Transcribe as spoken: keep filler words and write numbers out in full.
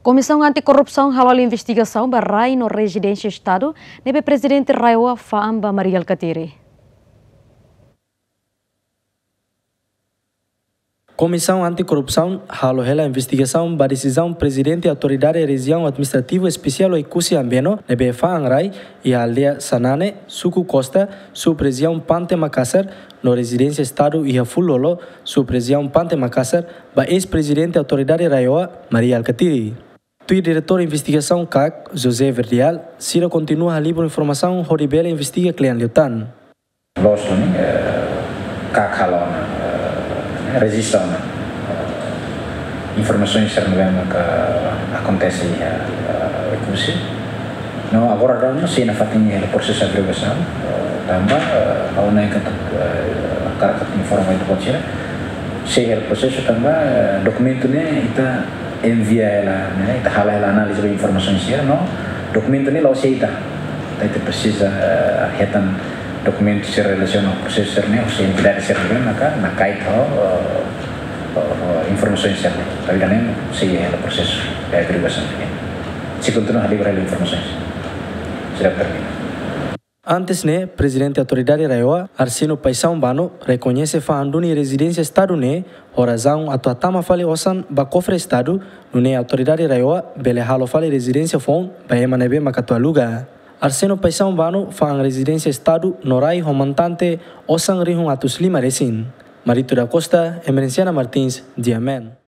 Komisaun Anti-Korrupsaun halo investigasaun ba rai no rezidénsia Estadu ne'ebé Prezidente RAEOA fa'an ba Mari Alkatiri. Komisaun Anti-Korrupsaun halo hela investigasaun ba desizaun Prezidente Autoridade Rejiaun Administrativa Espesiál Oekusi Ambeno ne'ebé fa'an rai iha aldeia Sanane, suku Costa, sub-rejiaun Pante Makasar, no rezidénsia Estadu iha Fulolo, sub-rejiaun Pante Makasar, ba eis-Prezidente Autoridade RAEOA, Mari Alkatiri. Tuir Diretór Investigasaun KAK, José Verdial, sira kontinua halibur informasaun hodi bele investiga kle'an liután. Loos duni, eh, KAK halo ona, eh, rejista ona, eh, informasaun sira ne'ebé maka akontese iha, eh, Oekusi. No agora daudaun sei nafatin iha prosesu averiguasaun, eh, tanba, eh, ha'u hanoin katak, eh, hakarak atu informa ita-boot sira. Sei iha prosesu tanba, eh, dokumentu ne'e ita envia hela, ne'e, ita halo hela análize ba informasaun sira, no dokumentu ne'e la'ós ita. Ita, ita presiza, eh, hetan dokumentu sira relasiona ho prosesu sira-ne'e, husi entidade sira-ne'ebé maka nakait ho, eh, ho, ho informasaun sira-ne'e. Tanba ida-ne'e sei iha prosesu averiguasaun ne'e. Sei kontinua halibur informasaun sira. Sira termina. Antes ne'e, Prezidente Autoridade RAEOA, Arsénio Paixão Bano, rekoñese fa'an duni rezidénsia Estadu ne'e ho razaun atu hatama fali osan ba kofre Estadu, nune'e Autoridade RAEOA bele halo fali rezidénsia foun ba ema ne'ebé maka atu aluga. Arsénio Paixão Bano fa'an rezidénsia Estadu no rai ho montante osan rihun atus lima resin. Marito da Costa, Emerenciana Martins, GMN.